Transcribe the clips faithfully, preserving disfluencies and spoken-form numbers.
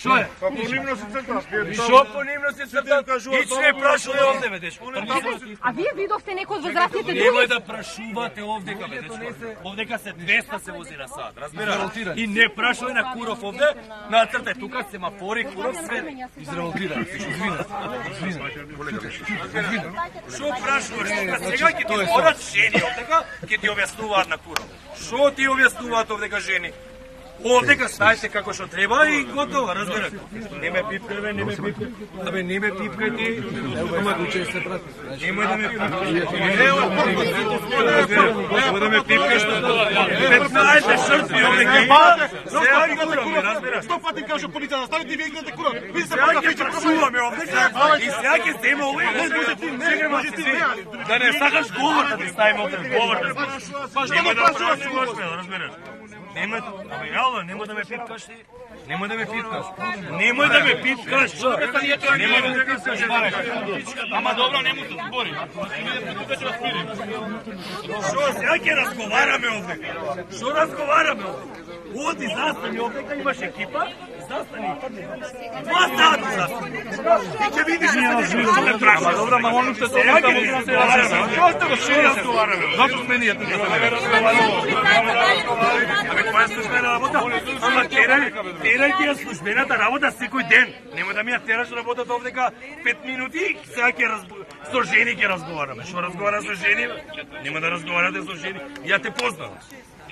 Што е? Па понимно се црташ. Што понимно се црташ? Ич не прашувате овде, бе, дечко. А вие видовте некој од возрастните Немој други? да прашувате овдека, бе, дечко. Овдека се двеста се вози на сат, разбираш? И не прашувај на Куров овде, нацртај тука семафори, Куров све. Израелтирам се, извинете. Извинете. Што прашуваш? Сега ќе ти зборат жени овдека, ќе ти објаснуваат на Куров. Што ти објаснуваат овдека жени? Овдека стајте како што треба и готово, разбираш. Не ме пипкај, бе, не ме пипкај. Абе, не ме пипкај ти. Немој да ме пипкаш. Немој да ме пипкаш. петнаесет шртви овдека има. Сега ги кураме, разбираш. Сто пати кажу полиција, ставите вие гледате куров. Ви се Сега ќе прашуваме овдека и сега ќе земе овој. Чекај ма си, да не сакаш говор да ти ставиме овде говор. Немој да прашуваш, разбираш. Немој, абе јало, немој да ме пипкаш ти. Немој да ме пипкаш. Немој да ме пипкаш. Немој да ме пипкаш. Ама добро, не му се збори. Тука ќе распирим. Што сега ќе разговараме овде? Што разговараме овде? Оди, застани овдека, имаш екипа, застани. Два сата застани. Ти ќе видиш да се дешава. Ама добро, ма оно што Сега ќе ти разговараме. Што разговараме? Зато сме ние тука. Абе, која е службена работа? Ама терај, терај ти ја службената работа секој ден. Немој да ми ја тераш работата овдека пет минути и сега ќе со жени ќе разговараме. Што разговара со жени? Нема да разговарате со жени. Ја те познам.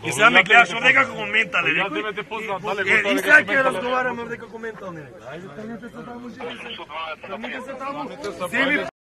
И сега ме гледаш овдека како ментале, некој. Ја те познам, дали Е, и сега ќе разговараме овдека како ментални. Ајде, тргнете се таму, жени се. Тргнете се таму. Земи